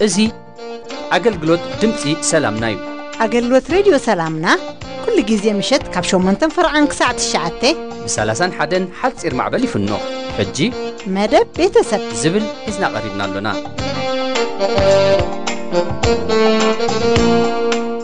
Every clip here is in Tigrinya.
እዚ ኣገልግሎት ድምፂ ሰላምና እዩ። ኣገልግሎት ሬድዮ ሰላምና ኩሉ ግዜ ምሸት ካብ ሸሞንተን ፈርዓን ክሳዕ ትሽዓተ ብ ሰላሳን ሓደን ሓፂር ማዕበል ይፍኖ። ሕጂ መደብ ቤተሰብ ዝብል ሒዝና ቀሪብና ኣሎና።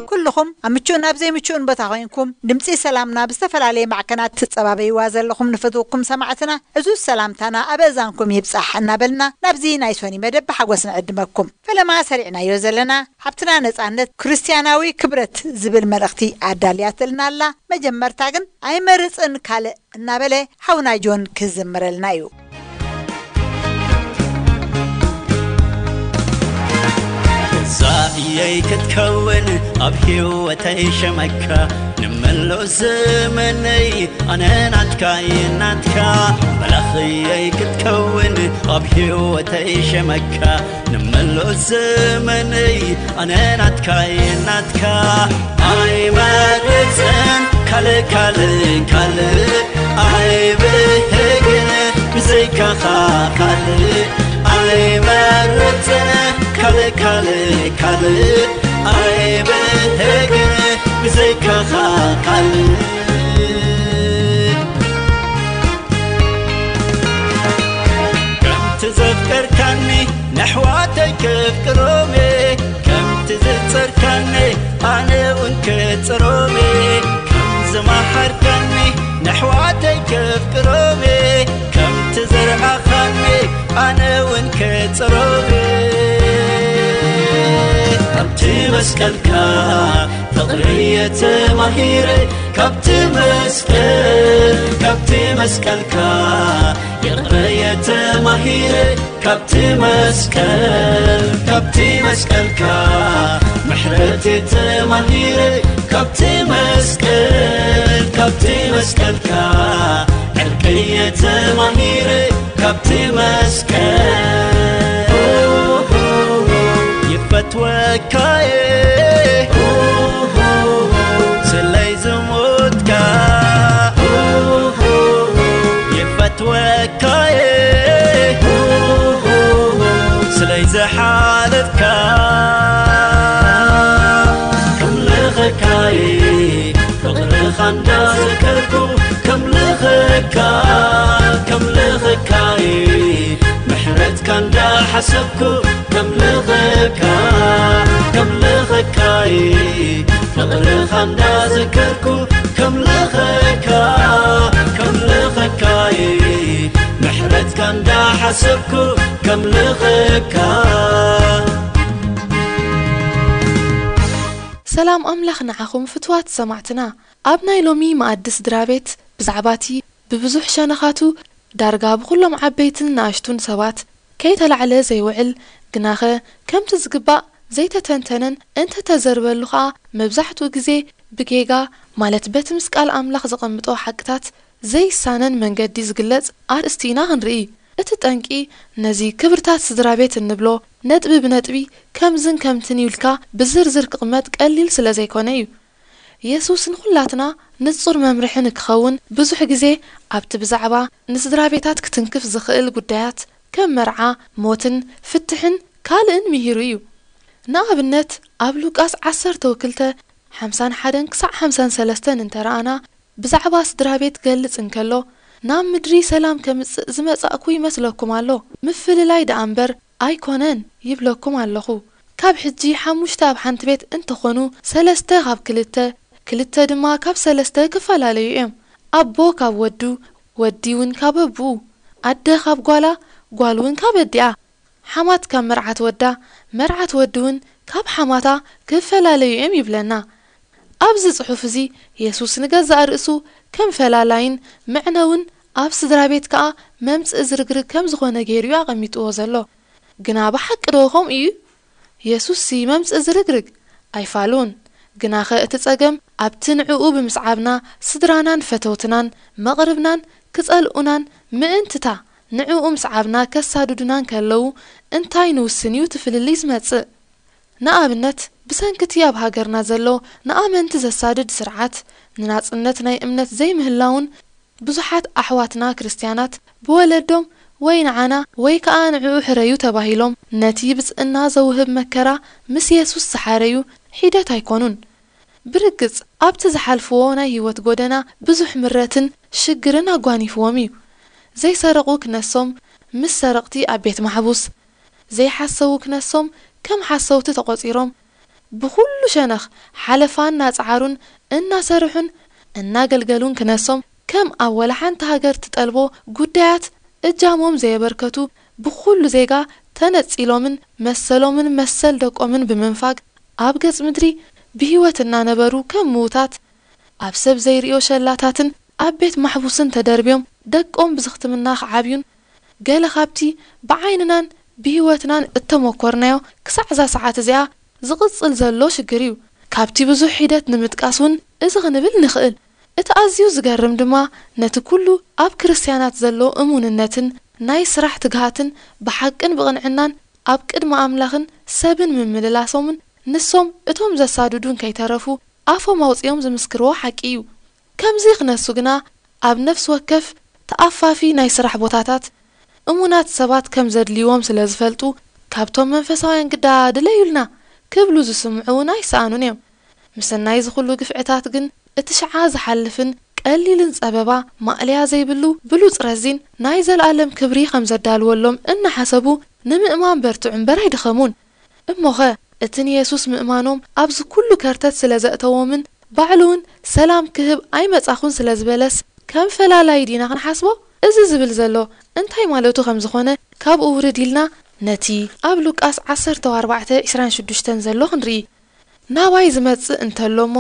ኩልኹም ኣብ ምቹእን ኣብ ዘይምቹእን ቦታ ኮይንኩም ድምፂ ሰላምና ብዝተፈላለየ ማዕከናት ትፀባበይዋ ዘለኹም ንፈትወኩም ሰማዕትና፣ ዕዙዝ ሰላምታና ኣብ እዛንኩም ይብጻሕ እናበልና ናብዚ ናይ ሶኒ መደብ ብሓጎስ ንዕድመኩም። ፈለማ ሰሪዕናዮ ዘለና ሓብትና ነጻነት ክርስትያናዊ ክብረት ዝብል መልእኽቲ ኣዳልያትልና ኣላ። መጀመርታ ግን ኣይመርጽን ካልእ እናበለ ሓውና ጆን ክዝምረልና እዩ። እዛ እየይ ክትከውን ኣብ ህይወተይ ሸመካ፣ ንመሎ ዘመነይ ኣነ ናትካ እየ ናትካ። መላኽየይ ክትከውን ኣብ ህይወተይ ሸመካ፣ ንመሎ ዘመነይ ኣነ ናትካ እየ ናትካ። ኣይመርጽን ካልእ ካልእ ካልእ ኣይብህግን ብዘይካኻ ካልእ ኣይመርጽን ካልእ ካልእ ካልእ ኣይብህግን ብዘይካኻ ካልእ። ከምቲ ዘፍቀርካኒ ነሕዋተይ ከፍቅሮም እየ፣ ከምቲ ዝጸርካኒ ኣነ እውን ክጽሮም እየ። ከም ዝመሓርካኒ ነሕዋተይ ከፍቅሮም እየ፣ ከምቲ ዘርኣኻኒ ኣነ እውን ክጽሮም እየ። ኣብቲ መስቀልካ ፍቕሪ እየ ተማሂረ፣ ካብቲ መስቀል፣ ካብቲ መስቀልካ ይቕረ እየ ተማሂረ፣ ካብቲ መስቀል፣ ካብቲ መስቀልካ ምሕረት እየ ተማሂረ፣ ካብቲ መስቀል፣ ካብቲ መስቀልካ ዕርቂ እየ ተማሂረ፣ ካብቲ መስቀል ይፈትወካ እየ ስለይ ዝሞትካ። ይፈትወካ እየ ስለይ ዝሓለፍካ። ከምልኸካ እየ ፍቕርኻ እንዳዘከርኩ፣ ከምልኸካ፣ ከምልኸካ እየ ምሕረትካ እንዳሓሰብኩ፣ ከምልኸካ፣ ከምልኸካ እየ ፍቕርኻ እንዳዘከርኩ፣ ከምልኸካ፣ ከምልኸካ እየ ምሕረትካ እንዳሓሰብኩ፣ ከምልኸካ። ሰላም ኣምላኽ ንዓኹም ፍትዋት ሰማዕትና። ኣብ ናይ ሎሚ መኣዲ ስድራ ቤት ብዛዕባቲ ብብዙሕ ሸነኻቱ ዳርጋ ብኹሎም ዓበይትን ንኣሽቱን ሰባት ከይተላዕለ ዘይውዕል፣ ግናኸ ከምቲ ዝግባእ ዘይተተንተነን እንተተዘርበሉ ኸኣ መብዛሕትኡ ግዜ ብጌጋ፣ ማለት በቲ ምስ ቃል ኣምላኽ ዘቐምጦ ሓቅታት ዘይሳነን መንገዲ ዝግለጽ ኣርእስቲ ኢና ክንርኢ። እቲ ጠንቂ ነዚ ክብርታት ስድራ ቤት እንብሎ ነጥቢ ብነጥቢ ከምዝን ከምትን ኢልካ ብዝርዝር ክቕመጥ ቀሊል ስለ ዘይኮነ እዩ። የሱስ ንኹላትና ንጹር መምርሒ ንክኸውን ብዙሕ ግዜ ኣብቲ ብዛዕባ ንስድራ ቤታት ክትንክፍ ዝኽእል ጉዳያት ከም መርዓ፣ ሞትን ፍትሕን ካልእን ምሂሩ እዩ። ንኣብነት ኣብ ሉቃስ ዓሰርተ ክልተ ሓምሳን ሓደን ክሳዕ ሓምሳን ሰለስተን እንተ ረኣና ብዛዕባ ስድራ ቤት ክገልጽ እንከሎ ናብ ምድሪ ሰላም ከምጽእ ዝመጻእኩ ይመስለኩም ኣሎ፣ ምፍልላይ ደኣ እምበር ኣይኮነን ይብለኩም ኣለኹ። ካብ ሕጂ ሓሙሽተ ኣብ ሓንቲ ቤት እንተኾኑ፣ ሰለስተ ካብ ክልተ፣ ክልተ ድማ ካብ ሰለስተ ክፈላለዩ እዮም። ኣቦ ካብ ወዱ፣ ወዲ እውን ካብ ኣቦኡ፣ ኣደ ካብ ጓላ፣ ጓል እውን ካብ ኣዲኣ፣ ሓማት ካብ መርዓት ወዳ፣ መርዓት ወዲ እውን ካብ ሓማታ ክፈላለዩ እዮም ይብለና። ኣብዚ ጽሑፍ እዚ የሱስ ንገዛእ ርእሱ ከም ፈላላይን መዕነውን ኣብ ስድራ ቤት ከኣ መምጽኢ ዝርግርግ ከም ዝኾነ ገይሩ እዩ ኣቐሚጥዎ ዘሎ። ግና ብሓቂ ዶ ከምኡ እዩ? የሱስሲ መምጽኢ ዝርግርግ ኣይፋሉን። ግናኸ እቲ ጸገም ኣብቲ ንዕኡ ብምስዓብና ስድራናን ፈተውትናን መቕርብናን ክጸልኡናን ምእንትታ ንዕኡ ምስ ዓብና ከሳድዱና እንከለዉ እንታይ ንውስን እዩ እቲ ፍልልይ ዝመጽእ? ንኣብነት፣ ብሰንኪ እቲ ኣብ ሃገርና ዘሎ ንኣመንቲ ዘሳድድ ስርዓት፣ ንናጽነት ናይ እምነት ዘይምህላውን ብዙሓት ኣሕዋትና ክርስትያናት ብወለዶም ወይ ንዓና ወይ ከኣ ንዕኡ ሕረዩ ተባሂሎም ነቲ ብጽእና ዘውህብ መከራ ምስ የሱስ ዝሓረዩ ሒደት ኣይኮኑን። ብርግጽ ኣብቲ ዝሓልፍዎ ናይ ህይወት ጎደና ብዙሕ ምረትን ሽግርን ኣጓኒፍዎም እዩ። ዘይሰረቑ ክነሶም ምስ ሰረቕቲ ኣብ ቤት ማሕቡስ፣ ዘይሓሰዉ ክነሶም ከም ሓሰውቲ ተቖጺሮም፣ ብኹሉ ሸነኽ ሓለፋ እናጸዓሩን እናሰርሑን እናገልገሉን ክነሶም ከም ኣብ ወላ ሓንቲ ሃገር ትጠልቦ ጉዳያት እጃሞም ዘየበርከቱ ብኹሉ ዜጋ ተነጺሎምን መሰሎምን መሰል ደቆምን ብምንፋግ ኣብ ገጽ ምድሪ ብህይወት እናነበሩ ከም ምዉታት ኣብ ሰብ ዘይርእዮ ሸላታትን ኣብ ቤት ማሕቡስን ተደርብዮም ደቆም ብዝኽትምና ክዓብዩን ገለ ካብቲ ብዓይንናን ብህይወትናን እተመኮርናዮ ክሳዕ እዛ ሰዓት እዚኣ ዝቕጽል ዘሎ ሽግር እዩ። ካብቲ ብዙሕ ሒደት ንምጥቃስ እውን እዚ ክንብል ንኽእል። እቲ ኣዝዩ ዝገርም ድማ ነቲ ኩሉ ኣብ ክርስትያናት ዘሎ እሙንነትን ናይ ስራሕ ትግሃትን ብሓቅን ብቕንዕናን ኣብ ቅድሚ ኣምላኽን ሰብን ምምልላሶምን ንሶም እቶም ዘሳድዱን ከይተረፉ ኣፎም ኣውጺኦም ዝምስክርዎ ሓቂ እዩ። ከምዚ ክነሱ ግና ኣብ ነፍሲ ወከፍ ተኣፋፊ ናይ ስራሕ ቦታታት እሙናት ሰባት ከም ዘድልይዎም ስለ ዝፈልጡ ካብቶም መንፈሳውያን ግዳ ድለዩልና ክብሉ ዝስምዑ እውን ኣይሰኣኑን እዮም። ምስናይ እዚ ኩሉ ግፍዕታት ግን እቲ ሽዓ ዝሓልፍን ቀሊልን ጸበባ ማእለያ ዘይብሉ ብሉጽ ረዚን ናይ ዘለኣለም ክብሪ ከም ዘዳልወሎም እናሓሰቡ ንምእማን በርትዑ እምበር ኣይደኸሙን። እሞኸ እቲ ንየሱስ ምእማኖም ኣብዚ ኩሉ ከርተት ስለ ዘእተዎምን ባዕሉ እውን ሰላም ክህብ ኣይመጻኹን ስለ ዝበለስ ከም ፈላላይ ዲና ክንሓስቦ? እዚ ዝብል ዘሎ እንታይ ማለቱ ከም ዝኾነ ካብኡ ውርድ ኢልና ነቲ ኣብ ሉቃስ ዓሰርተ ኣርባዕተ ዕስራን ሽዱሽተን ዘሎ ክንርኢ። ናባይ ዝመጽእ እንተሎ እሞ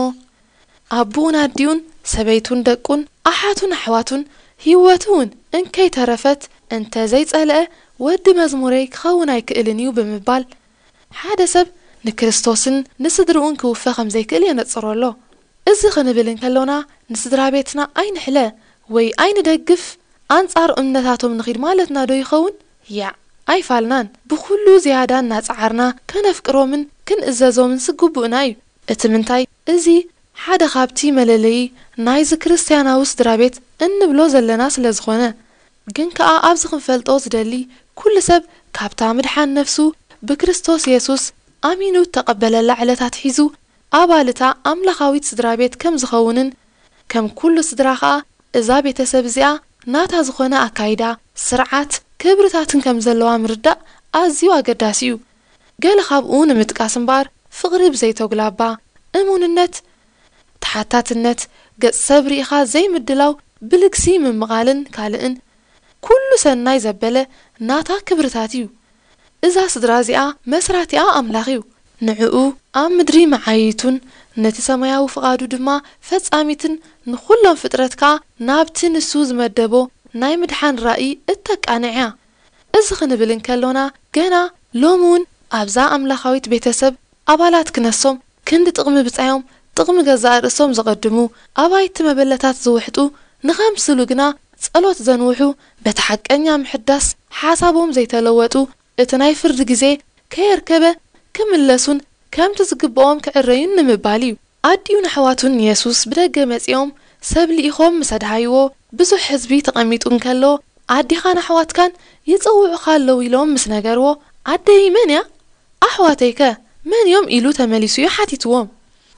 ኣቦኡን ኣዲኡን ሰበይቱን ደቁን ኣሓቱን ኣሕዋቱን ህይወቱ እውን እንከይተረፈት እንተ ዘይጸልአ ወዲ መዝሙረይ ክኸውን ኣይክእልን እዩ ብምባል ሓደ ሰብ ንክርስቶስን ንስድርኡን ክውፈ ከም ዘይክእል የነጽሮ ኣሎ። እዚ ክንብል እንከሎና ንስድራ ቤትና ኣይንሕለ ወይ ኣይንደግፍ ኣንጻር እምነታቶም ንኺድ ማለትና ዶ ይኸውን? ያዕ ኣይፋልናን። ብኹሉ ዝያዳ እናጸዓርና ከነፍቅሮምን ክንእዘዞምን ዝግቡእና እዩ። እቲ ምንታይ እዚ ሓደ ካብቲ መለለዪ ናይዚ ክርስትያናዊ ስድራ ቤት እንብሎ ዘለና ስለ ዝኾነ። ግን ከኣ ኣብዚ ክንፈልጦ ዝደሊ ኩሉ ሰብ ካብታ ምድሓን ነፍሱ ብክርስቶስ የሱስ ኣሚኑ እተቐበለላ ዕለት ኣትሒዙ ኣባል እታ ኣምላኻዊት ስድራ ቤት ከም ዝኸውንን ከም ኩሉ ስድራ ከኣ እዛ ቤተሰብ እዚኣ ናታ ዝኾነ ኣካይዳ፣ ስርዓት፣ ክብርታትን ከም ዘለዋ ምርዳእ ኣዝዩ ኣገዳሲ እዩ። ገለ ካብኡ ንምጥቃስ እምበኣር ፍቕሪ ብዘይተጉላባ፣ እሙንነት፣ ተሓታትነት፣ ገጽ ሰብ ርኢኻ ዘይምድላው፣ ብልግሲ ምምቓልን ካልእን ኩሉ ሰናይ ዘበለ ናታ ክብርታት እዩ። እዛ ስድራ እዚኣ መስራቲኣ ኣምላኽ እዩ። ንዕኡ ኣብ ምድሪ መዓይይቱን ነቲ ሰማያዊ ፍቓዱ ድማ ፈጻሚትን ንኹሎም ፍጥረት ከኣ ናብቲ ንሱ ዝመደቦ ናይ ምድሓን ራእይ እተቃንዕ እያ። እዚ ክንብል እንከሎና ገና ሎሚ እውን ኣብዛ ኣምላኻዊት ቤተሰብ ኣባላት ክነሶም ክንዲ ጥቕሚ ብጻዮም ጥቕሚ ገዛእ ርእሶም ዘቐድሙ ኣባይቲ መበለታት ዝውሕጡ ንኸምስሉ ግና ጸሎት ዘንውሑ በቲ ሓቀኛ ምሕዳስ ሓሳቦም ዘይተለወጡ እቲ ናይ ፍርዲ ግዜ ከየርከበ ክምለሱን ከምቲ ዝግብኦም ክዕረዩን ንምባል እዩ። ኣዲኡን ኣሕዋቱን ንየሱስ ብደገ መጺኦም ሰብ ልኢኾም ምስ ኣድሃይዎ ብዙሕ ህዝቢ ተቐሚጡ እንከሎ ኣዴኻን ኣሕዋትካን ይጸውዑኻ ኣለዉ ኢሎም ምስ ነገርዎ ኣደይ መን እያ? ኣሕዋተይከ መን እዮም ኢሉ ተመሊሱ እዩ ሓቲትዎም።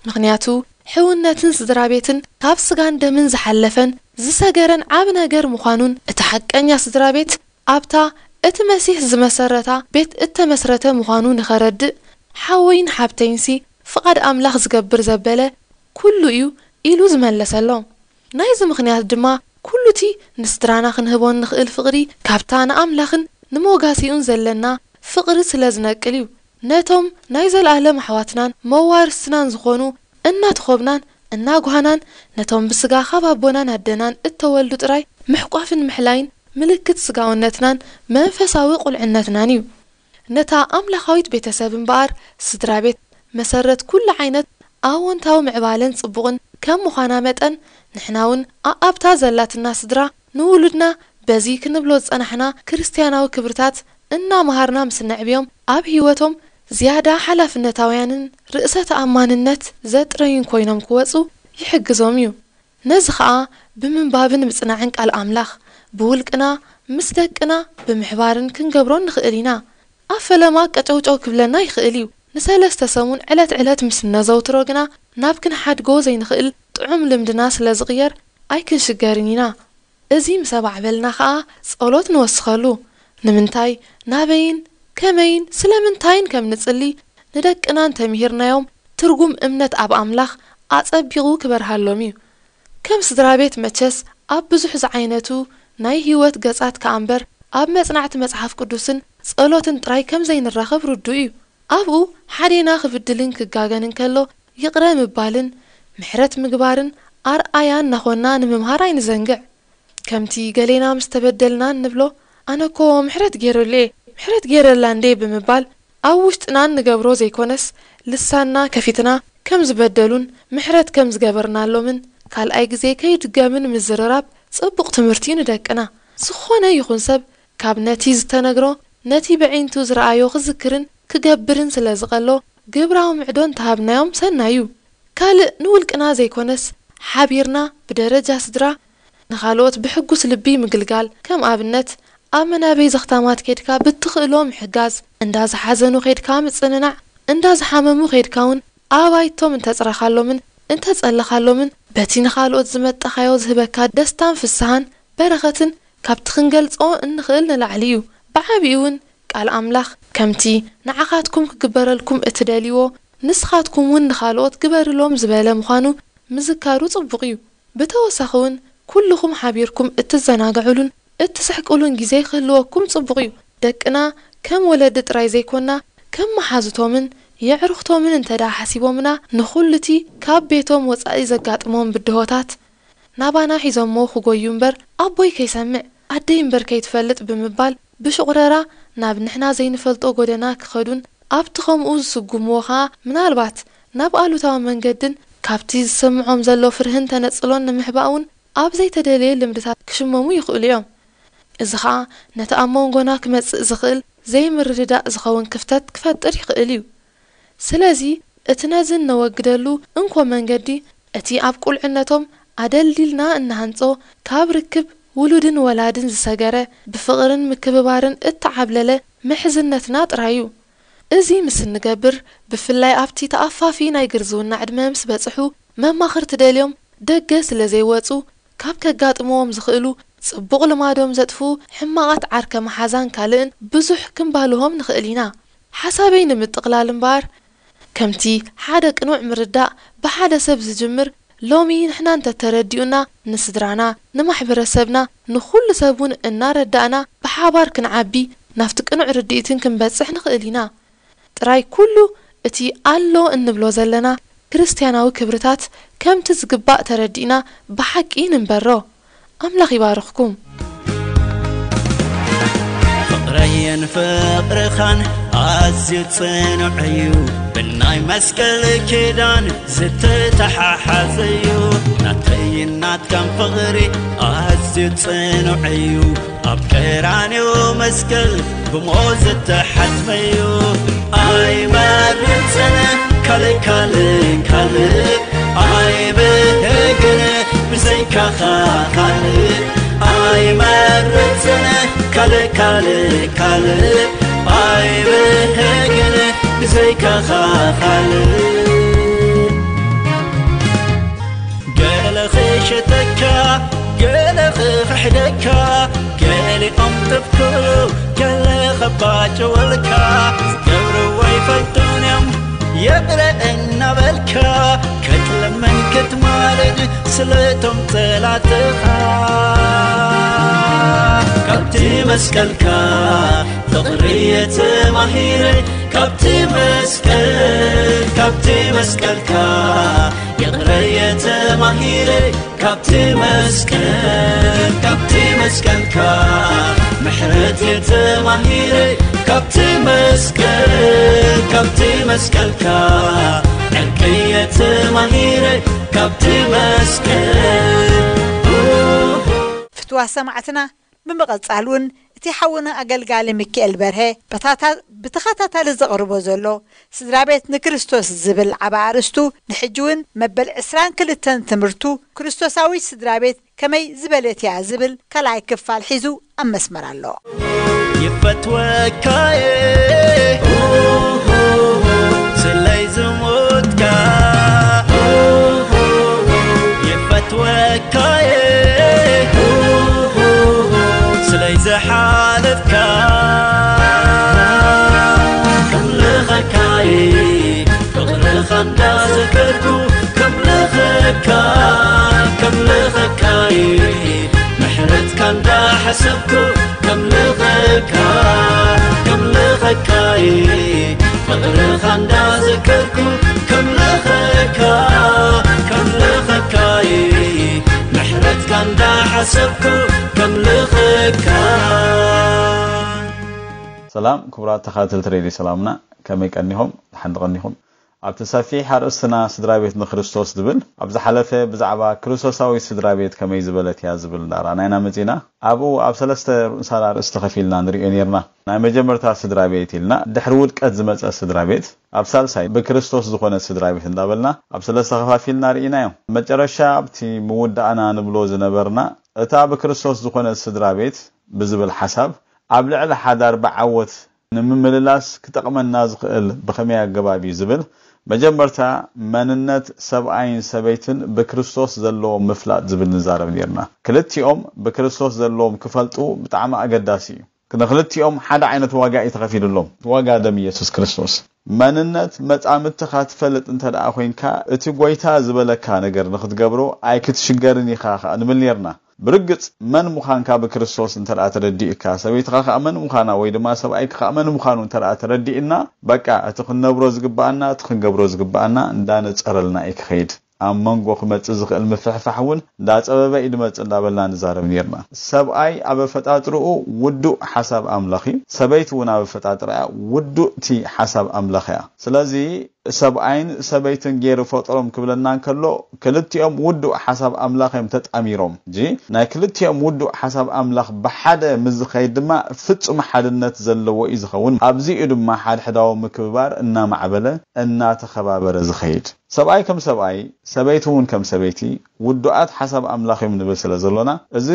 ምኽንያቱ ሕውነትን ስድራ ቤትን ካብ ስጋን ደምን ዝሓለፈን ዝሰገረን ዓቢ ነገር ምዃኑን እቲ ሓቀኛ ስድራ ቤት ኣብታ እቲ መሲሕ ዝመሰረታ ቤት እተመስረተ ምዃኑ ንኸረድእ ሓወይን ሓብተይንሲ ፍቓድ ኣምላኽ ዝገብር ዘበለ ኩሉ እዩ ኢሉ ዝመለሰሎም። ናይዚ ምኽንያት ድማ ኩሉቲ ንስድራና ክንህቦ እንኽእል ፍቕሪ ካብታ ንኣምላኽን ንሞጋሲኡን ዘለና ፍቕሪ ስለ ዝነቅል እዩ። ነቶም ናይ ዘለኣለም ኣሕዋትናን መዋርስናን ዝኾኑ እናተኾብናን እናጓህናን ነቶም ብስጋ ካብ ኣቦናን ኣደናን እተወልዱ ጥራይ ምሕቋፍን ምሕላይን ምልክት ስጋውነትናን መንፈሳዊ ቁልዕነትናን እዩ። ነታ ኣምላኻዊት ቤተሰብ እምበኣር ስድራ ቤት መሰረት ኩሉ ዓይነት ኣወንታዊ ምዕባለን ጽቡቕን ከም ምዃና መጠን ንሕና እውን ኣኣብታ ዘላትና ስድራ ንውሉድና በዚ ክንብሎ ዝጸናሕና ክርስትያናዊ ክብርታት እናመሃርና ምስ ነዕብዮም፣ ኣብ ህይወቶም ዝያዳ ሓላፍነታውያንን ርእሰ ተኣማንነት ዘጥረዩን ኮይኖም ክወጹ ይሕግዞም እዩ። ነዚ ኸኣ ብምንባብን ምጽናዕን ቃል ኣምላኽ፣ ብውልቅና ምስ ደቅና ብምሕባርን ክንገብሮ ንኽእል ኢና። ኣብ ፈለማ ቀጨውጨው ክብለና ይኽእል እዩ። ንሰለስተ ሰሙን ዕለት ዕለት ምስ እነዘውትሮ ግና፣ ናብ ክንሓድጎ ዘይንኽእል ጥዑም ልምድና ስለ ዝቕየር ኣይክንሽገርን ኢና። እዚ ምስ ኣባዕበልና ኸኣ ጸሎት ንወስኸሉ። ንምንታይ፣ ናበይን፣ ከመይን፣ ስለምንታይን ከም ንጽሊ ንደቅና እንተምሂርናዮም፣ ትርጉም እምነት ኣብ ኣምላኽ ኣጸቢቑ ክበርሃሎም እዩ። ከም ስድራ ቤት መቸስ ኣብ ብዙሕ ዝዓይነቱ ናይ ህይወት ገጻት ከኣ እምበር፣ ኣብ መጽናዕቲ መጽሓፍ ቅዱስን ጸሎትን ጥራይ ከም ዘይንራኸብ ርዱእ እዩ። ኣብኡ ሓዴና ክብድልን ክጋገን እንከሎ፣ ይቕረ ምባልን ምሕረት ምግባርን ኣርኣያ እናኾንና ንምምሃር ኣይንዘንግዕ። ከምቲ ገሌና ምስ ተበደልና እንብሎ፣ "ኣነ እኮ ምሕረት ገይረሉ እየ፣ ምሕረት ገይረላ እንዴ" ብምባል ኣብ ውሽጥና እንገብሮ ዘይኮነስ፣ ልሳንና ከፊትና ከም ዝበደሉን ምሕረት ከም ዝገበርናሎምን ካልኣይ ግዜ ከይድገምን ምዝርራብ ጽቡቕ ትምህርቲ እዩ ንደቅና። ዝኾነ ይኹን ሰብ ካብ ነቲ ዝተነግሮ፣ ነቲ ብዒንቱ ዝረኣዮ ክዝክርን ክገብርን ስለ ዝቐሎ፣ ግብራዊ ምዕዶ እንተሃብናዮም ሰናይ እዩ። ካልእ ንውልቅና ዘይኮነስ፣ ሓቢርና ብደረጃ ስድራ ንኻልኦት ብሕጉስ ልቢ ምግልጋል፣ ከም ኣብነት፣ ኣብ መናበይ ዘኽታማት ኬድካ ብትኽእሎ ምሕጋዝ፣ እንዳ ዝሓዘኑ ኬድካ ምጽንናዕ፣ እንዳ ዝሓመሙ ኬድካ እውን ኣባይቶም እንተጽረኻሎምን እንተጸለኻሎምን፣ በቲ ንኻልኦት ዝመጠኻዮ ዝህበካ ደስታን ፍስሃን በረኸትን ካብቲ ክንገልጾ እንኽእል ንላዕሊ እዩ። ብዓቢኡ እውን ቃል ኣምላኽ፣ "ከምቲ ንዓኻትኩም ክግበረልኩም እትደልይዎ፣ ንስኻትኩም እውን ንኻልኦት ግበርሎም" ዝበለ ምዃኑ ምዝካሩ ጽቡቕ እዩ። ብተወሳኺ እውን፣ ኩልኹም ሓቢርኩም እትዘናግዑሉን እትስሕቅሉን ግዜ ክህልወኩም ጽቡቕ እዩ። ደቅና ከም ወለዲ ጥራይ ዘይኮና፣ ከም መሓዙቶምን የዕሩኽቶምን እንተ ደኣ ሓሲቦምና፣ ንኹሉ እቲ ካብ ቤቶም ወጻኢ ዘጋጥሞም ብድሆታት፣ ናባና ሒዞሞ ክጎዩ እምበር፣ "ኣቦይ ከይሰምዕ፣ ኣደይ እምበር ከይትፈልጥ" ብምባል፣ ብሽቑረራ ናብ ንሕና ዘይንፈልጦ ጎደና ክኸዱን፣ ኣብቲ ከምኡ ዝስጉምዎ ኸኣ፣ ምናልባት ናብ ኣሉታዊ መንገድን ካብቲ ዝስምዖም ዘሎ ፍርህን ተነጽሎን ንምሕባእ እውን ኣብ ዘይተደልየ ልምድታት ክሽመሙ ይኽእሉ እዮም። እዚ ኸኣ ነቲ ኣብ መንጎና ክመጽእ ዝኽእል ዘይምርድዳእ ዝኸውን ክፍተት ክፈጥር ይኽእል እዩ። ስለዚ፣ እቲ ነዚ እነወግደሉ እንኮ መንገዲ፣ እቲ ኣብ ቁልዕነቶም ኣደልዲልና እንሃንጾ፣ ካብ ርክብ ውሉድን ወላድን ዝሰገረ፣ ብፍቕርን ምክብባርን እተዓብለለ ምሕዝነትና ጥራይ እዩ። እዚ ምስ እንገብር፣ ብፍላይ ኣብቲ ተኣፋፊ ናይ ግርዝውና ዕድመ ምስ በጽሑ፣ መማኽርቲ ደልዮም ደገ ስለ ዘይወጹ፣ ካብ ከጋጥምዎም ዝኽእሉ ጽቡቕ ልማዶም ዘጥፍኡ ሕማቓት ዓርከ መሓዛን ካልእን ብዙሕ ክንባልሆም ንኽእል ኢና። ሓሳበይ ንምጥቕላል እምበኣር፣ ከምቲ ሓደ ቅኑዕ ምርዳእ ብሓደ ሰብ ዝጅምር፣ ሎሚ ንሕና እንተተረዲኡና፣ ንስድራና፣ ንማሕበረሰብና፣ ንኹሉ ሰብ እውን እናረዳእና፣ ብሓባር ክንዓቢ፣ ናብቲ ቅኑዕ ርድኢትን ክንበጽሕ ንኽእል ኢና። ጥራይ ኩሉ እቲ ኣሎ እንብሎ ዘለና ክርስትያናዊ ክብርታት ከምቲ ዝግባእ ተረዲእና ብሓቂ ንንበሮ። ኣምላኽ ይባርኽኩም። ፍቕረይን ፍቕርኻን ኣዝዩ ጽኑዕ እዩ፣ ብናይ መስቀል ኪዳን ዝተተሓሓዘ እዩ። ናተይን ናትካን ፍቕሪ ኣዝዩ ጽኑዕ እዩ፣ ኣብ ቀራንዮ መስቀል ብሞት ዝተሓትመ እዩ። ኣይመርጽን ካልእ፣ ካልእ፣ ካልእ ኣይብህግን ብዘይካኻ ካልእ። ኣይመርጽን ካልእ፣ ካልእ፣ ካልእ ኣይብህግን ብዘይካኻ ካልእ። ገለ ክሸተካ፣ ገለ ክኽሕደካ፣ ገሊኦም ጥፍኩ፣ ገለ ኸባጭወልካ፣ ዝገብርዎ ኣይፈልጡን እዮም፣ ይቕረ እናበልካ፣ ክትልምን ክትማልድ ስለቶም ጸላትኻ። ካብቲ መስቀልካ ፍቕሪ እየ ተማሂረ፣ ካብቲ መስቀል፣ ካብቲ መስቀልካ ይቕረ እየ ተማሂረ፣ ካብቲ መስቀል፣ ካብቲ መስቀልካ ምሕረት እየ ተማሂረ፣ ካብቲ መስቀል፣ ካብቲ መስቀልካ ዕርቂ እየ ተማሂረ፣ ካብቲ መስቀል። ፍትዋ ሰማዕትና፣ ብምቕጻል እውን እቲ ሓውና ኣገልጋሊ ሚካኤል በርሀ በታታ ብተኸታታሊ ዘቕርቦ ዘሎ ስድራ ቤት ንክርስቶስ ዝብል ዓቢ ኣርእስቱ ንሕጂ እውን መበል ዕስራን ክልተን ትምህርቱ ክርስቶሳዊት ስድራ ቤት ከመይ ዝበለት እያ ዝብል ካልኣይ ክፋል ሒዙ ኣብ መስመር ኣሎ። ይፈትወካየ ስለይ ዝሞትካ ይፈትወካየ ስለይ ዝሓለፍካ ከምልኸካየ ፍቕርኻ እንዳዘከርኩ ከምልኸካ ከምልኸካየ ምሕረትካ እንዳሓሰብኩ ከምልኸካ ከምልኸካየ ፍቕርኻ እንዳዘከርኩ ከምልኸካ ከምልኸካየ ምሕረትካ እንዳሓሰብኩ ከምልኸካ ሰላም ክቡራት ተኻተልቲ ሬድዮ ሰላምና፣ ከመይ ቀኒኹም? ድሓን ዶ ቀኒኹም? ኣብቲ ሰፊሕ ኣርእስትና ስድራ ቤት ንክርስቶስ ዝብል፣ ኣብ ዝሓለፈ ብዛዕባ ክርስቶሳዊት ስድራ ቤት ከመይ ዝበለት እያ ዝብል እንዳረኣና ኢና መጺና። ኣብኡ ኣብ ሰለስተ ርኡሳት ኣርእስቲ ከፊልና ንርእዮ ኔርና። ናይ መጀመርታ ስድራ ቤት ኢልና ድሕሪ ውድቀት ዝመጸ ስድራ ቤት፣ ኣብ ሳልሳይ ብክርስቶስ ዝኾነ ስድራ ቤት እንዳበልና ኣብ ሰለስተ ከፋፊልና ርኢናዮ። መጨረሻ ኣብቲ ምውዳእና ንብሎ ዝነበርና እታ ብክርስቶስ ዝኾነ ስድራ ቤት ብዝብል ሓሳብ ኣብ ልዕሊ ሓዳር ብዓወት ንምምልላስ ክጠቕመና ዝኽእል ብኸመይ ኣገባብ እዩ ዝብል መጀመርታ መንነት ሰብኣይን ሰበይትን ብክርስቶስ ዘለዎም ምፍላጥ ዝብል ንዛረብ ኔርና። ክልቲኦም ብክርስቶስ ዘለዎም ክፈልጡ ብጣዕሚ ኣገዳሲ እዩ። ንክልቲኦም ሓደ ዓይነት ዋጋ እዩ ተኸፊሉሎም፣ ዋጋ ደም ኢየሱስ ክርስቶስ። መንነት መጻምድትኻ ትፈልጥ እንተ ደኣ ኮይንካ እቲ ጎይታ ዝበለካ ነገር ንክትገብሮ ኣይክትሽገርን ኢኻ ኸኣ ንብል ኔርና። ብርግጽ መን ምዃንካ ብክርስቶስ እንተ ደኣ ተረዲእካ፣ ሰበይትኻ ከኣ መን ምዃና ወይ ድማ ሰብኣይካ ከኣ መን ምዃኑ እንተ ደኣ ተረዲእና፣ በቃ እቲ ክንነብሮ ዝግብኣና፣ እቲ ክንገብሮ ዝግብኣና እንዳነጸረልና እዩ ክኸይድ። ኣብ መንጎ ክመጽእ ዝኽእል ምፍሕፋሕ እውን እንዳጸበበ እዩ ድመጽእ እንዳበልና ንዛረብ ኔርና። ሰብኣይ ኣብ ኣፈጣጥርኡ ውዱእ ሓሳብ ኣምላኽ እዩ። ሰበይቲ እውን ኣብ ኣፈጣጥርኣ ውዱእቲ ሓሳብ ኣምላኽ እያ። ስለዚ ሰብኣይን ሰበይትን ገይሩ ፈጠሮም ክብለና እንከሎ ክልቲኦም ውዱእ ሓሳብ ኣምላኽ እዮም ተጣሚሮም። እዚ ናይ ክልቲኦም ውዱእ ሓሳብ ኣምላኽ ብሓደ ምስ ዝኸይድ ድማ ፍጹም ሓድነት ዘለዎ እዩ ዝኸውን። ኣብዚኡ ድማ ሓድሕዳዊ ምክብባር እናማዕበለ እናተኸባበረ ዝኸይድ። ሰብኣይ ከም ሰብኣይ፣ ሰበይቲ እውን ከም ሰበይቲ ውዱኣት ሓሳብ ኣምላኽ እዮም ንብል ስለ ዘሎና፣ እዚ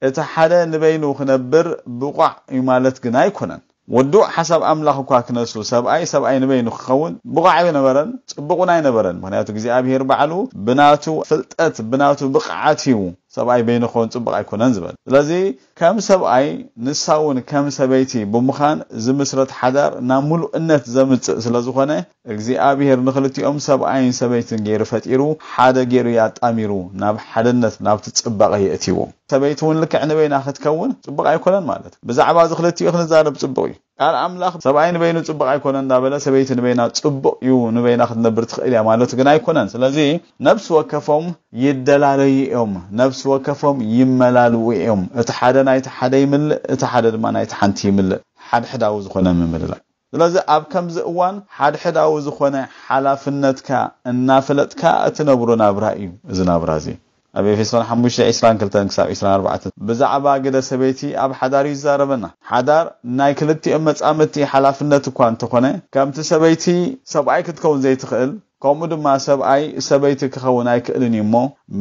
እቲ ሓደ ንበይኑ ክነብር ብቑዕ እዩ ማለት ግን ኣይኮነን። ውዱእ ሓሳብ ኣምላኽ እኳ ክነሱ፣ ሰብኣይ ሰብኣይ ንበይኑ ክኸውን ብቑዕ ኣይነበረን፣ ጽቡቕ እውን ኣይነበረን። ምኽንያቱ እግዚኣብሄር ባዕሉ ብናቱ ፍልጠት፣ ብናቱ ብቕዓት እዩ ሰብኣይ በይኑ ክኸውን ጽቡቕ ኣይኮነን ዝበል። ስለዚ ከም ሰብኣይ ንሳ እውን ከም ሰበይቲ ብምዃን ዝምስረት ሓዳር ናብ ምሉእነት ዘምጽእ ስለ ዝኾነ እግዚኣብሄር ንኽልቲኦም ሰብኣይን ሰበይትን ገይሩ ፈጢሩ ሓደ ገይሩ ያጣሚሩ ናብ ሓድነት ናብቲ ጽባቐ የእትይዎም። ሰበይቲ እውን ልክዕ ንበይና ክትከውን ጽቡቕ ኣይኮነን ማለት እዩ። ብዛዕባ እዚ ክልቲኡ ክንዛረብ ጽቡቕ እዩ። ቃል ኣምላኽ ሰብኣይ ንበይኑ ጽቡቕ ኣይኮነን እንዳበለ ሰበይቲ ንበይና ጽቡቕ እዩ ንበይና ክትነብር ትኽእል እያ ማለቱ ግን ኣይኮነን። ስለዚ ነብሲ ወከፎም ይደላለዩ እዮም፣ ነብሲ ወከፎም ይመላልኡ እዮም። እቲ ሓደ ናይቲ ሓደ ይምልእ፣ እቲ ሓደ ድማ ናይቲ ሓንቲ ይምልእ። ሓድሕዳዊ ዝኾነ ምምልላእ። ስለዚ ኣብ ከምዚ እዋን ሓድሕዳዊ ዝኾነ ሓላፍነትካ እናፈለጥካ እትነብሮ ናብራ እዩ እዚ ናብራ እዚ። ኣብ ኤፌሶን ሓሙሽተ ዕስራን ክልተን ክሳብ ዕስራን ኣርባዕተን ብዛዕባ ግደ ሰበይቲ ኣብ ሓዳር እዩ ዝዛረበና። ሓዳር ናይ ክልቲኦም መጻምድቲ ሓላፍነት እኳ እንተኾነ ከምቲ ሰበይቲ ሰብኣይ ክትከውን ዘይትኽእል ከምኡ ድማ ሰብኣይ ሰበይቲ ክኸውን ኣይክእልን እዩ እሞ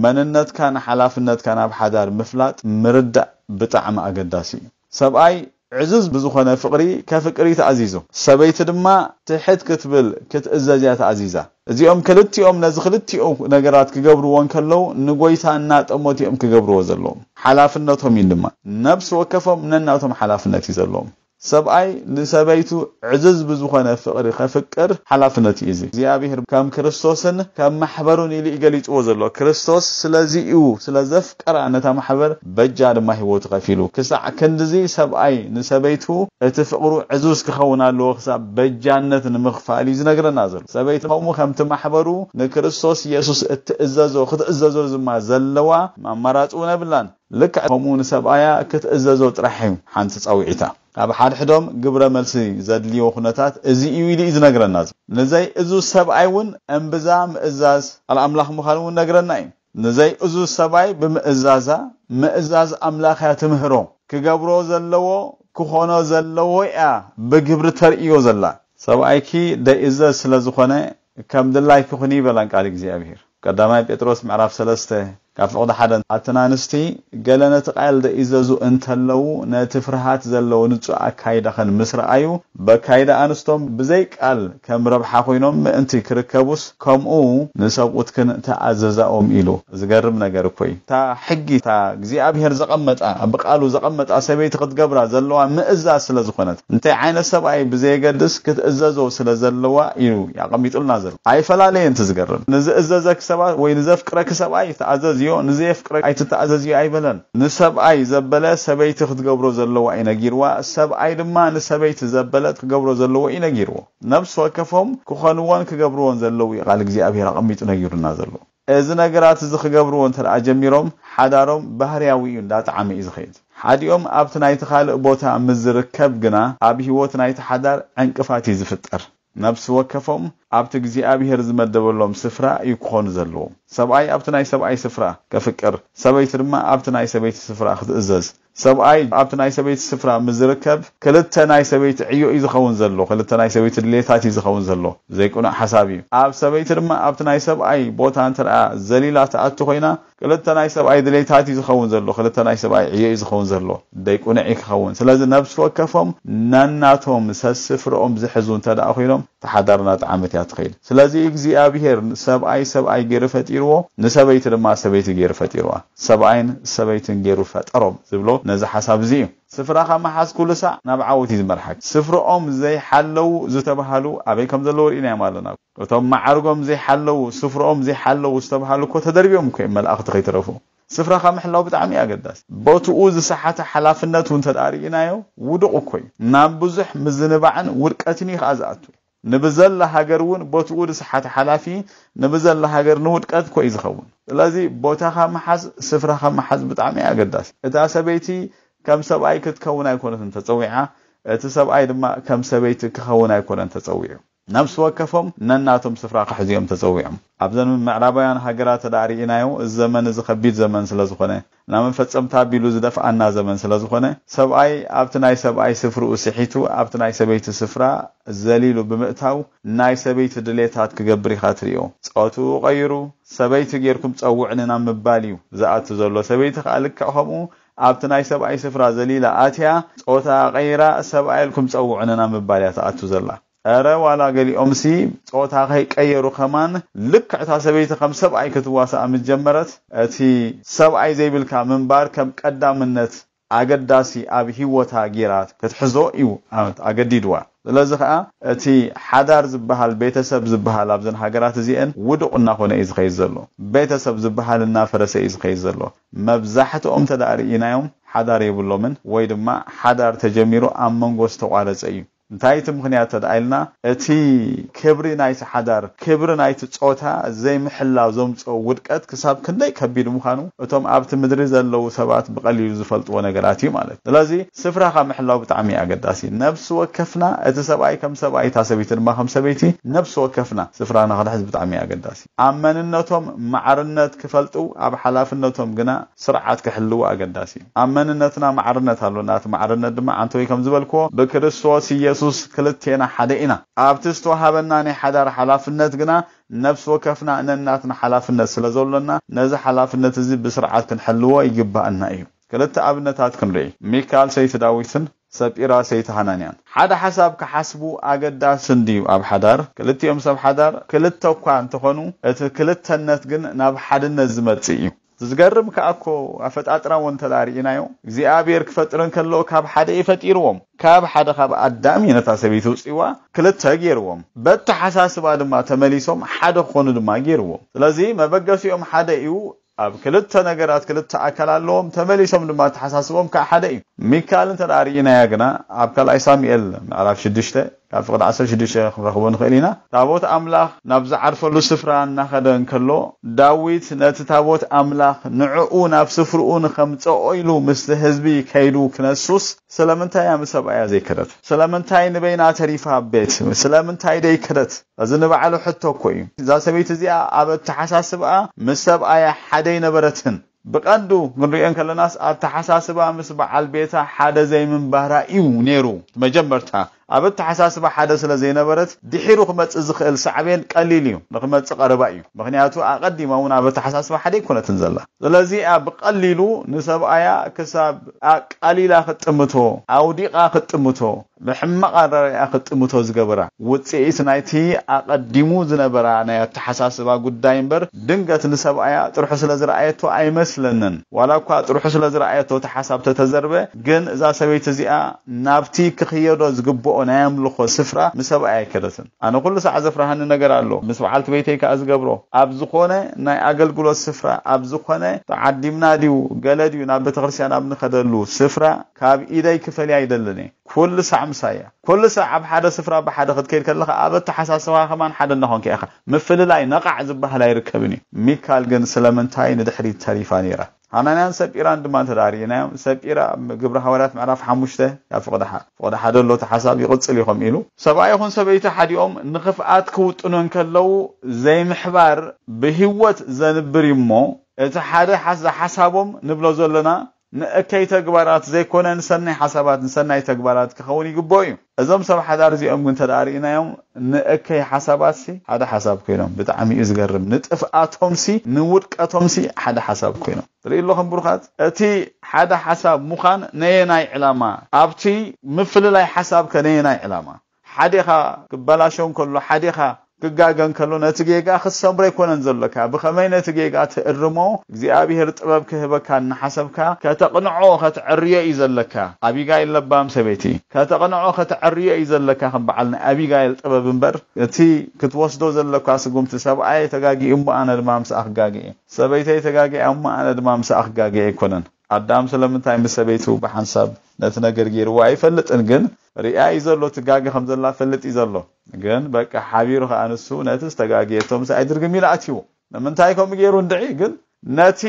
መንነትካን ሓላፍነትካን ኣብ ሓዳር ምፍላጥ ምርዳእ ብጣዕሚ ኣገዳሲ እዩ። ሰብኣይ ዕዙዝ ብዝኾነ ፍቕሪ ከፍቅር እዩ ተኣዚዙ። ሰበይቲ ድማ ትሕት ክትብል ክትእዘዝ እያ ተኣዚዛ። እዚኦም ክልቲኦም ነዚ ክልቲኡ ነገራት ክገብርዎ እንከለዉ ንጎይታ እናጠመቱ እዮም ክገብርዎ ዘለዎም። ሓላፍነቶም እዩ ድማ። ነብሲ ወከፎም ነናቶም ሓላፍነት እዩ ዘለዎም። ሰብኣይ ንሰበይቱ ዕዙዝ ብዝኾነ ፍቕሪ ከፍቅር ሓላፍነት እዩ እዚ። እግዚኣብሔር ከም ክርስቶስን ከም ማሕበሩን ኢሉ እዩ ገሊጽዎ ዘሎ። ክርስቶስ ስለዚ እዩ፣ ስለ ዘፍቀራ ነታ ማሕበር በጃ ድማ ህይወቱ ከፊሉ። ክሳዕ ክንድዚ ሰብኣይ ንሰበይቱ እቲ ፍቕሩ ዕዙዝ ክኸውን ኣለዎ፣ ክሳብ በጃነት ንምኽፋል እዩ ዝነግረና ዘሎ። ሰበይቲ ከምኡ ከምቲ ማሕበሩ ንክርስቶስ ኢየሱስ እትእዘዞ፣ ክትእዘዞ ድማ ዘለዋ ኣማራጺ እውን የብላን። ልክዕ ከምኡ ንሰብኣያ ክትእዘዞ ጥራሕ እዩ ሓንቲ ጻውዒታ። ኣብ ሓድሕዶም ግብረ መልሲ ዘድልዮ ኩነታት እዚ እዩ ኢሉ እዩ ዝነግረና። ንዘይ እዙዝ ሰብኣይ እውን እምብዛ ምእዛዝ ቃል ኣምላኽ ምዃኑ እውን ነግረና እዩ። ንዘይ እዙዝ ሰብኣይ ብምእዛዛ ምእዛዝ ኣምላኽ እያ ትምህሮ። ክገብሮ ዘለዎ ክኾኖ ዘለዎ እያ ብግብሪ ተርእዮ ዘላ። ሰብኣይኪ ደይእዘዝ ስለ ዝኾነ ከም ድላይኪ ኩኒ ይበላን ቃል እግዚኣብሔር። ቀዳማይ ጴጥሮስ ምዕራፍ ሰለስተ ካብ ፍቕዲ ሓደ ኣተን ኣንስቲ ገለ ነቲ ቃል ደይእዘዙ እንተለዉ ነቲ ፍርሃት ዘለዎ ንጹ ኣካይዳኸን ምስ ረኣዩ በካይዳ ኣንስቶም ብዘይ ቃል ከም ረብሓ ኮይኖም ምእንቲ ክርከቡስ ከምኡ ንሰብኡትክን ተኣዘዛኦም ኢሉ። ዝገርም ነገር እኮ እዩ። እታ ሕጊ እታ እግዚኣብሔር ዘቐመጣ ብቃሉ ዘቐመጣ ሰበይቲ ክትገብራ ዘለዋ ምእዛዝ ስለ ዝኾነት እንታይ ዓይነት ሰብኣይ ብዘየገድስ ክትእዘዞ ስለ ዘለዋ እዩ ኣቐሚጡልና ዘሎ። ኣይፈላለየን። እቲ ዝገርም ንዝእዘዘኪ ሰባት ወይ ንዘፍቅረኪ ሰብኣይ ተኣዘዝዮ፣ ንዘየፍቅረ ኣይትተኣዘዝዮ ኣይበለን። ንሰብኣይ ዘበለ ሰበይቲ ክትገብሮ ዘለዋ እዩ ነጊርዋ። ሰብኣይ ድማ ንሰበይቲ ዘበለት ክገብሮ ዘለዎ እዩ ነጊርዎ። ነብሲ ወከፎም ክኾንዎን ክገብርዎን ዘለዉ እዩ ቃል እግዚኣብሔር ኣቐሚጡ ነጊሩና ዘሎ። እዚ ነገራት እዚ ክገብርዎ እንተ ደኣ ጀሚሮም ሓዳሮም ባህርያዊ እዩ እንዳጠዓመ እዩ ዝኸይድ። ሓዲኦም ኣብቲ ናይቲ ካልእ ቦታ ምስ ዝርከብ ግና ኣብ ህይወት ናይቲ ሓዳር ዕንቅፋት እዩ ዝፍጠር። ነብሲ ወከፎም ኣብቲ እግዚኣብሔር ዝመደበሎም ስፍራ እዩ ክኾኑ ዘለዎም። ሰብኣይ ኣብቲ ናይ ሰብኣይ ስፍራ ከፍቅር፣ ሰበይቲ ድማ ኣብቲ ናይ ሰበይቲ ስፍራ ክትእዘዝ። ሰብኣይ ኣብቲ ናይ ሰበይቲ ስፍራ ምስ ዝርከብ ክልተ ናይ ሰበይቲ ዕዮ እዩ ዝኸውን ዘሎ። ክልተ ናይ ሰበይቲ ድሌታት እዩ ዝኸውን ዘሎ። ዘይቅኑዕ ሓሳብ እዩ። ኣብ ሰበይቲ ድማ ኣብቲ ናይ ሰብኣይ ቦታ እንተ ደኣ ዘሊላ ትኣቱ ኮይና ክልተ ናይ ሰብኣይ ድሌታት እዩ ዝኸውን ዘሎ። ክልተ ናይ ሰብኣይ ዕዮ እዩ ዝኸውን ዘሎ። ዘይቅኑዕ እዩ ክኸውን። ስለዚ ነብሲ ወከፎም ነናቶም ሰስፍርኦም ዝሕዙ እንተ ደኣ ኮይኖም ተሓዳርና ጠዓመት እያ ትኸይድ። ስለዚ እግዚኣብሔር ሰብኣይ ሰብኣይ ገይሩ ፈጢርዎ፣ ንሰበይቲ ድማ ሰበይቲ ገይሩ ፈጢርዋ። ሰብኣይን ሰበይትን ገይሩ ፈጠሮም ዝብሎ ነዚ ሓሳብ እዚ እዩ። ስፍራኻ ምሓዝ ኩሉ ሳዕ ናብ ዓወት እዩ ዝመርሓካ። ስፍርኦም ዘይሓለዉ ዝተባሃሉ ኣበይ ከም ዘለዉ ርኢናዮም ኣለና። እቶም ማዕርጎም ዘይሓለዉ፣ ስፍርኦም ዘይሓለዉ ዝተባሃሉ እኮ ተደርብዮም እኮ እዮም መላእኽቲ ከይተረፉ። ስፍራኻ ምሕላው ብጣዕሚ እዩ ኣገዳሲ። ቦትኡ ዝሰሓተ ሓላፍነት እውን እንተ ደኣ ርኢናዮ ውዱቕ እኮ እዩ። ናብ ብዙሕ ምዝንባዕን ውድቀትን እዩ ከኣ ዝኣቱ። ንብዘላ ሃገር እውን ቦትኡ ዝሰሓተ ሓላፊ ንብዘላ ሃገር ንውድቀት እኮ እዩ ዝኸውን። ስለዚ ቦታኻ ምሓዝ፣ ስፍራኻ ምሓዝ ብጣዕሚ እዩ ኣገዳሲ። እታ ሰበይቲ ከም ሰብኣይ ክትከውን ኣይኮነትን ተጸዊዓ፣ እቲ ሰብኣይ ድማ ከም ሰበይቲ ክኸውን ኣይኮነን ተጸዊዑ። ነፍሲ ወከፎም ነናቶም ስፍራ ክሕዙ እዮም ተጸዊዖም። ኣብዘን ምዕራባውያን ሃገራት እንተ ደኣ ርኢናዮ፣ እዚ ዘመን እዚ ከቢድ ዘመን ስለ ዝኾነ፣ ናብ መፈጸምታ ኣቢሉ ዝደፍኣና ዘመን ስለ ዝኾነ፣ ሰብኣይ ኣብቲ ናይ ሰብኣይ ስፍርኡ ስሒቱ፣ ኣብቲ ናይ ሰበይቲ ስፍራ ዘሊሉ ብምእታው፣ ናይ ሰበይቲ ድሌታት ክገብር ኢኻ ትርእዮ። ጾትኡ ቀይሩ፣ ሰበይቲ ጌርኩም ጸውዕኒ ናብ ምባል እዩ ዝኣቱ ዘሎ። ሰበይቲ ከኣ ልክዕ ከምኡ ኣብቲ ናይ ሰብኣይ ስፍራ ዘሊላ ኣትያ፣ ጾታ ቀይራ፣ ሰብኣይ ኢልኩም ጸውዑኒ ናብ ምባል እያ ትኣቱ ዘላ። እረ ዋላ ገሊኦምሲ ጾታ ከይቀየሩ ከማን ልክዕ እታ ሰበይቲ ከም ሰብኣይ ክትዋሳእ ምስ ጀመረት፣ እቲ ሰብኣይ ዘይብልካ ምንባር ከም ቀዳምነት ኣገዳሲ ኣብ ህይወታ ጌራ ክትሕዞ እዩ ኣገዲድዋ። ስለዚ ኸኣ እቲ ሓዳር ዝበሃል፣ ቤተሰብ ዝበሃል ኣብዘን ሃገራት እዚአን ውዱቕ እናኾነ እዩ ዝኸይድ ዘሎ። ቤተሰብ ዝበሃል እናፈረሰ እዩ ዝኸይድ ዘሎ። መብዛሕትኦም እንተ ደኣ ርኢናዮም ሓዳር የብሎምን፣ ወይ ድማ ሓዳር ተጀሚሩ ኣብ መንጎ ዝተቋረጸ እዩ። እንታይ እቲ ምኽንያት እንተ ደኣ ኢልና፣ እቲ ክብሪ ናይቲ ሓዳር፣ ክብሪ ናይቲ ጾታ ዘይምሕላው ዘምጽኦ ውድቀት ክሳብ ክንደይ ከቢድ ምዃኑ እቶም ኣብቲ ምድሪ ዘለዉ ሰባት ብቐሊሉ ዝፈልጥዎ ነገራት እዩ ማለት እዩ። ስለዚ ስፍራኻ ምሕላው ብጣዕሚ እዩ ኣገዳሲ። ነብሲ ወከፍና፣ እቲ ሰብኣይ ከም ሰብኣይ፣ እታ ሰበይቲ ድማ ከም ሰበይቲ፣ ነብሲ ወከፍና ስፍራና ክንሕዝ ብጣዕሚ እዩ ኣገዳሲ። ኣብ መንነቶም ማዕርነት ክፈልጡ፣ ኣብ ሓላፍነቶም ግና ስርዓት ክሕልዉ ኣገዳሲ እዩ። ኣብ መንነትና ማዕርነት ኣሎና። እቲ ማዕርነት ድማ ዓንተወይ ከም ዝበልክዎ ብክርስቶስ ኢየሱስ ክልቴና ሓደ ኢና። ኣብቲ ዝተዋሃበና ናይ ሓዳር ሓላፍነት ግና ነፍሲ ወከፍና ነናትና ሓላፍነት ስለ ዘሎና ነዚ ሓላፍነት እዚ ብስርዓት ክንሕልዎ ይግባኣና እዩ። ክልተ ኣብነታት ክንርኢ። ሚካል ሰይቲ ዳዊትን ሰጲራ ሰይቲ ሃናንያን ሓደ ሓሳብ ክሓስቡ ኣገዳሲ እንድዩ። ኣብ ሓዳር ክልቲኦም ሰብ ሓዳር ክልተ እኳ እንተኾኑ እቲ ክልተነት ግን ናብ ሓድነት ዝመጽእ እዩ። ዝገርም ከኣ እኮ ኣፈጣጥራ እውን እንተ ደኣ ርኢናዮ እግዚኣብሔር ክፈጥር እንከሎ ካብ ሓደ እዩ ፈጢርዎም። ካብ ሓደ ካብ ኣዳም እዩ ነታ ሰበይቲ ውፅዋ ክልተ ገይርዎም። በተሓሳስባ ድማ ተመሊሶም ሓደ ክኾኑ ድማ ገይርዎም። ስለዚ መበገሲኦም ሓደ እዩ። ኣብ ክልተ ነገራት ክልተ ኣካል ኣለዎም። ተመሊሶም ድማ ኣተሓሳስቦም ከዓ ሓደ እዩ። ሚካል እንተ ደኣ ርኢናያ ግና ኣብ ካልኣይ ሳሙኤል ምዕራፍ ሽዱሽተ ካብ ፍቕዲ ዓሰርተ ሽዱሽተ ክንረኽቦ ንኽእል ኢና። ታቦት ኣምላኽ ናብ ዝዓርፈሉ ስፍራ እናኸደ እንከሎ ዳዊት ነቲ ታቦት ኣምላኽ ንዕኡ ናብ ስፍርኡ ንኸምጽኦ ኢሉ ምስቲ ህዝቢ ከይዱ ክነሱስ ስለምንታይ እያ ምስ ሰብኣያ ዘይከደት? ስለምንታይ ንበይና ተሪፋ ኣብ ቤት? ስለምንታይ ደይከደት? እዚ ንባዕሉ ሕቶ እኮ እዩ። እዛ ሰበይቲ እዚኣ ኣብ ኣተሓሳስብኣ ምስ ሰብኣያ ሓደ ኣይነበረትን። ብቐንዱ ክንሪኦ እንከለናስ ኣተሓሳስባ ምስ በዓል ቤታ ሓደ ዘይምንባራ እዩ ነይሩ። መጀመርታ ኣብ ኣተሓሳስባ ሓደ ስለ ዘይነበረት ድሒሩ ክመጽእ ዝኽእል ሳዕቤን ቀሊል እዩ፣ ንክመጽእ ቀረባ እዩ። ምኽንያቱ ኣቐዲማ እውን ኣብ ኣተሓሳስባ ሓደ ኣይኮነትን ዘላ። ስለዚ ብቐሊሉ ንሰብኣያ ክሳብ ኣቃሊላ ክትጥምቶ፣ ኣውዲቓ ክትጥምቶ፣ ብሕማቕ ኣረኣእያ ክትጥምቶ ዝገበራ ውጽኢት ናይቲ ኣቐዲሙ ዝነበራ ናይ ኣተሓሳስባ ጉዳይ እምበር ድንገት ንሰብኣያ ጥርሑ ስለ ዝረኣየቶ ኣይመስለንን። ዋላ እኳ ጥርሑ ስለ ዝረኣየቶ እቲ ሓሳብ ተተዘርበ፣ ግን እዛ ሰበይቲ እዚኣ ናብቲ ክኽየዶ ዝግብኦ ናይ ኣምልኾ ስፍራ ምስ ሰብኣያ ኣይከደትን። ኣነ ኩሉ ሳዕ ዘፍርሃኒ ነገር ኣሎ። ምስ በዓልቲ ቤተይ ከኣ ዝገብሮ፣ ኣብ ዝኾነ ናይ ኣገልግሎት ስፍራ፣ ኣብ ዝኾነ ተዓዲምና ድዩ ገለ ድዩ ናብ ቤተክርስትያን ኣብ ንኸደሉ ስፍራ ካብ ኢደይ ክፈልያ ኣይደልን እየ። ኩሉ ሳዕ ምሳያ። ኩሉ ሳዕ ኣብ ሓደ ስፍራ ብሓደ ክትከይድ ከለኻ ኣብ ኣተሓሳስባ ከማን ሓደ እናኾንካ ኢኻ። ምፍልላይ ነቓዕ ዝበሃል ኣይርከብን እዩ። ሚካል ግን ስለምንታይ ንድሕሪት ተሪፋ ነይራ? ሃናንያን ሰጲራን ድማ እንተ ደኣ ርኢናዮም፣ ሰጲራ ኣብ ግብሪ ሃዋርያት ምዕራፍ ሓሙሽተ ካብ ፍቕዲ ሓ-፣ ፍቕዲ ሓደ ኣሎ እቲ ሓሳብ ይቕጽል እዩ ከምኡ ኢሉ። ሰብኣይ ይኹን ሰበይቲ ሓዲኦም ንኽፍኣት ክውጥኑ እንከለዉ ዘይምሕባር ብህይወት ዘንብር እዩ እሞ፣ እቲ ሓደ ሓስ-፣ ሓሳቦም ንብሎ ዘለና ንእከይ ተግባራት ዘይኮነ ንሰናይ ሓሳባት ንሰናይ ተግባራት ክኸውን ይግብኦ እዩ። እዞም ሰብ ሓዳር እዚኦም ግን እንተ ደኣ ርኢናዮም ንእከይ ሓሳባትሲ ሓደ ሓሳብ ኮይኖም፣ ብጣዕሚ እዩ ዝገርም። ንጥፍኣቶምሲ ንውድቀቶምሲ ሓደ ሓሳብ ኮይኖም። ትርኢ ኣለኹም ብሩኻት፣ እቲ ሓደ ሓሳብ ምዃን ነየናይ ዕላማ? ኣብቲ ምፍልላይ ሓሳብ ከ ነየናይ ዕላማ? ሓዴኻ ክበላሾ እንከሎ፣ ሓዴኻ ክጋገ እንከሎ፣ ነቲ ጌጋ ክትሰምሮ ኣይኮነን ዘሎካ። ብኸመይ ነቲ ጌጋ ትእርሞ እግዚኣብሔር ጥበብ ክህበካ እናሓሰብካ ከተቕንዖ፣ ከተዕርዮ እዩ ዘለካ። ኣቢጋይል ለባም ሰበይቲ፣ ከተቕንዖ፣ ከተዕርዮ እዩ ዘለካ። ከም በዓል ናይ ኣቢጋይል ጥበብ እምበር፣ እቲ ክትወስዶ ዘለካ ስጉምቲ፣ ሰብኣየ ተጋጊኡ እሞ ኣነ ድማ ምሳኣ ክጋገ እየ፣ ሰበይተይ ተጋጊኣ እሞ ኣነ ድማ ምሳኣ ክጋገ ኣይኮነን። ኣዳም ስለምንታይ ምስ ሰበይቱ ብሓንሳብ ነቲ ነገር ገይርዎ ኣይፈልጥን፣ ግን ሪኣ እዩ ዘሎ፣ ትጋገ ከም ዘላ ፈልጥ እዩ ዘሎ። ግን በቃ ሓቢሩ ከኣ ንሱ ነቲ ዝተጋገየቶ ምሳኣ ይድርግም ኢሉ ኣትይዎ። ንምንታይ ከምኡ ገይሩ እንድዒ? ግን ነቲ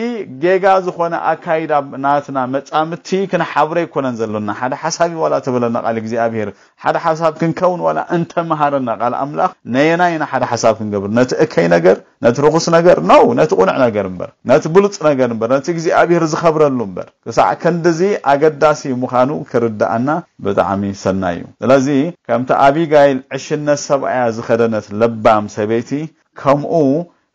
ጌጋ ዝኾነ ኣካይዳ ናትና መጻምድቲ ክንሓብሮ ኣይኮነን ዘሎና። ሓደ ሓሳብ እዩ ዋላ ተበለና ቃል እግዚኣብሔር፣ ሓደ ሓሳብ ክንከውን ዋላ እንተመሃረና ቃል ኣምላኽ፣ ነየናይ ኢና ሓደ ሓሳብ ክንገብር? ነቲ እከይ ነገር፣ ነቲ ርኹስ ነገር ነው፣ ነቲ ቁኑዕ ነገር እምበር፣ ነቲ ብሉጽ ነገር እምበር፣ ነቲ እግዚኣብሔር ዝኸብረሉ እምበር። ክሳዕ ክንድዚ ኣገዳሲ ምዃኑ ክርድኣና ብጣዕሚ ሰናይ እዩ። ስለዚ ከምቲ ኣቢጋይል ዕሽነት ሰብኣያ ዝኸደነት ለባም ሰበይቲ፣ ከምኡ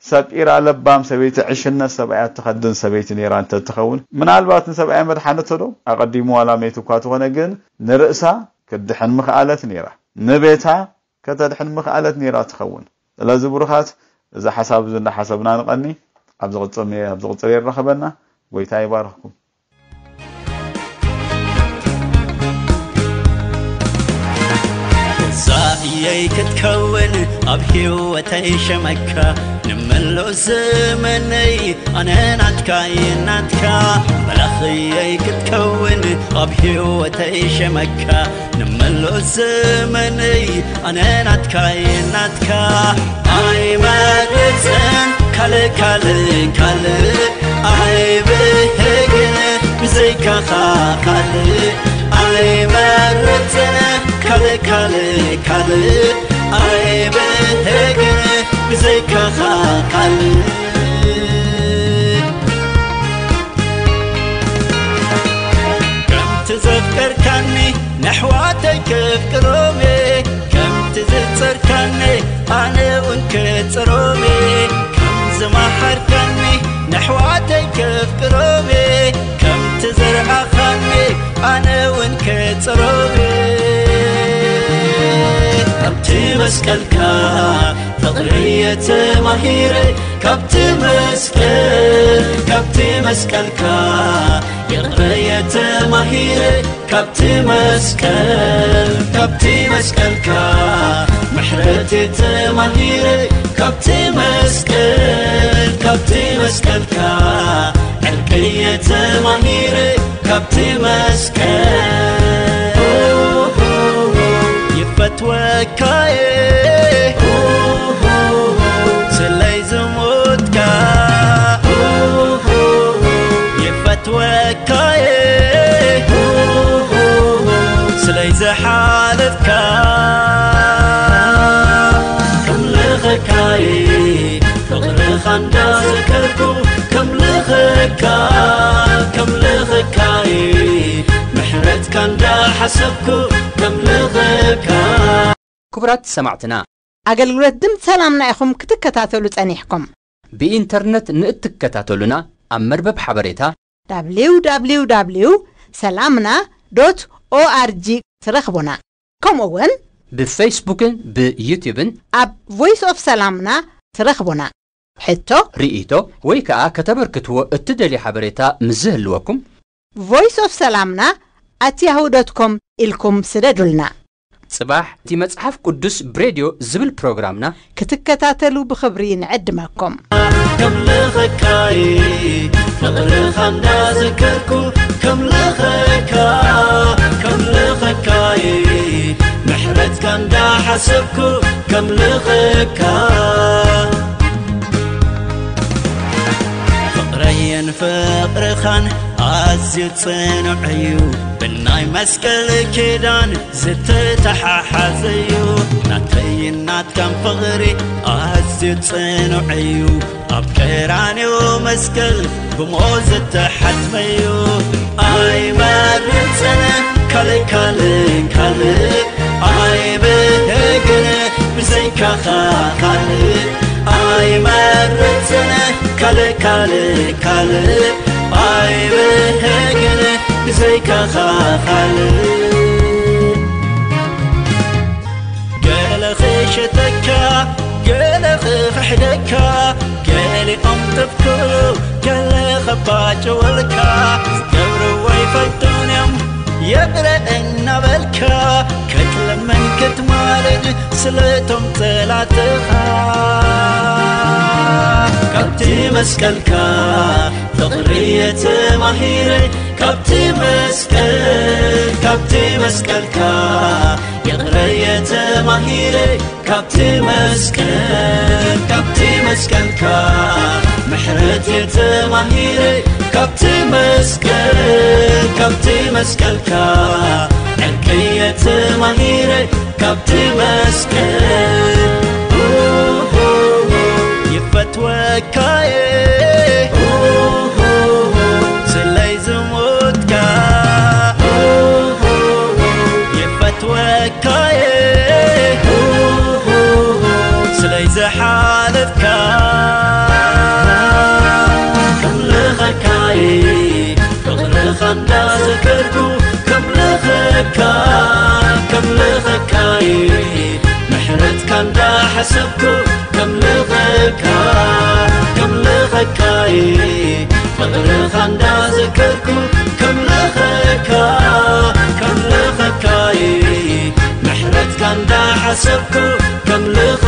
ሰጲራ ለባም ሰበይቲ ዕሽነት ሰብኣያ እትኸድን ሰበይቲ ነይራ እንተትኸውን፣ ምናልባት ንሰብኣያ መድሓነቶ ዶ? ኣቐዲሙ ዋላ መይቱ እኳ ተኾነ፣ ግን ንርእሳ ክትድሕን ምኽኣለት ነይራ። ንቤታ ከተድሕን ምኽኣለት ነይራ ትኸውን። ስለዚ ብሩኻት፣ እዚ ሓሳብ እዚ እንዳሓሰብና ንቐኒ። ኣብ ዝቕጽል፣ ኣብ ዝቕጽል የራኸበና። ጎይታ ይባርኽኩም። እዛ እየይ ክትከውን ኣብ ህይወተይ ሸመካ፣ ንመሎ ዘመነይ ኣነ ናትካ እየ ናትካ። መላኽየይ ክትከውን ኣብ ህይወተይ ሸመካ፣ ንመሎ ዘመነይ ኣነ ናትካ እየ ናትካ። ኣይመርጽን ካልእ ካልእ ካልእ ኣይብህግን ብዘይካኻ ካልእ ኣይመርጽን ካልእ ካልእ ካልእ ኣይብህግን ብዘይካኻ ካልእ። ከምቲ ዘፍቀርካኒ ነሕዋተይ ከፍቅሮም እየ፣ ከምቲ ዝጸርካኒ ኣነ እውን ክጽሮም እየ። ከም ዝመሓርካኒ ነሕዋተይ ከፍቅሮም እየ፣ ከምቲ ዘርኣኻኒ ኣነ እውን ክጽሮም እየ። ኣብቲ መስቀልካ ፍቕሪ እየ ተማሂረ፣ ካብቲ መስቀል፣ ካብቲ መስቀልካ ይቕረ እየ ተማሂረ፣ ካብቲ መስቀል፣ ካብቲ መስቀልካ ምሕረት እየ ተማሂረ፣ ካብቲ መስቀል፣ ካብቲ መስቀልካ ዕርቂ እየ ተማሂረ፣ ካብቲ መስቀል ይፈትወካ እየ ስለይ ዝሞትካ፣ ይፈትወካ እየ ስለይ ዝሓለፍካ። ከምልኸካ እየ ፍቕርኻ እንዳዘከርኩ፣ ከምልኸካ ሓሰብኩ ከምልኸካ። ክቡራት ሰማዕትና፣ ኣገልግሎት ድምፂ ሰላምና ኢኹም ክትከታተሉ ጸኒሕኩም። ብኢንተርነት ንእትከታተሉና፣ ኣብ መርበብ ሓበሬታ www ሰላምና ዶት ኦኣርጂ ትረኽቡና። ከምኡ እውን ብፌስቡክን ብዩቲዩብን ኣብ ቮይስ ኦፍ ሰላምና ትረኽቡና። ሕቶ፣ ርእይቶ ወይ ከኣ ከተበርክትዎ እትደልዩ ሓበሬታ ምስ ዝህልወኩም፣ ቮይስ ኦፍ ሰላምና ኣት ያሁ ዶት ኮም ኢልኩም ስደዱልና። ጽባሕ እቲ መጽሓፍ ቅዱስ ብሬድዮ ዝብል ፕሮግራምና ክትከታተሉ ብኽብሪ ንዕድመኩም። ከምልኸካይ ፍቕርኻ እንዳዘከርኩ፣ ከምልኸካ፣ ከምልኸካይ ምሕረትካ እንዳሓሰብኩ፣ ከምልኸካ። ፍቕረይን ፍቕርኻን ኣዝዩ ጽኑዕ እዩ፣ ብናይ መስቀል ኪዳን ዝተተሓሓዘ እዩ። ናተይን ናትካን ፍቕሪ ኣዝዩ ጽኑዕ እዩ፣ ኣብ ቀራንዮ መስቀል ብሞት ዝተሓትመ እዩ። ኣይመርጽን ካልእ፣ ካልእ፣ ካልእ ኣይብህግን ብዘይካኻ ካልእ። ኣይመርጽን ካልእ፣ ካልእ፣ ካልእ ኣይብህግን ብዘይካኻ ካልእ። ገለ ክሸጠካ፣ ገለ ክኽሕደካ፣ ገሊኦም ጥፍኩ፣ ገለ ኸባጭወልካ፣ ዝገብርዎ ኣይፈልጡን እዮም ይቕረ እናበልካ፣ ክትልምን ክትማልድ ስለቶም ጸላእትኻ። ካብቲ መስቀልካ ፍቕሪ ተማሂረ፣ ካብቲ መስቀል፣ ካብቲ መስቀልካ ይቕረ ተማሂረ፣ ካብቲ መስቀል፣ ካብቲ መስቀልካ ምሕረት ተማሂረ፣ ካብቲ መስቀል፣ ካብቲ መስቀልካ ዕርቂ ተማሂረ፣ ካብቲ መስቀል ይፈትወካየ ስለይ ዝሞትካ። ይፈትወካየ ስለይ ዝሓለፍካ። ከምልኸካየ ፍቕርኻ እንዳዘከርኩ፣ ከምልኸካ፣ ከምልኸካየ ምሕረትካ እንዳሓሰብኩ፣ ከምልኸካ፣ ከምልኸካየ ፍቕርኻ እንዳዘከርኩ፣ ከምልኸካ፣ ከምልኸካየ ምሕረትካ እንዳሓሰብኩ፣ ከምልኸ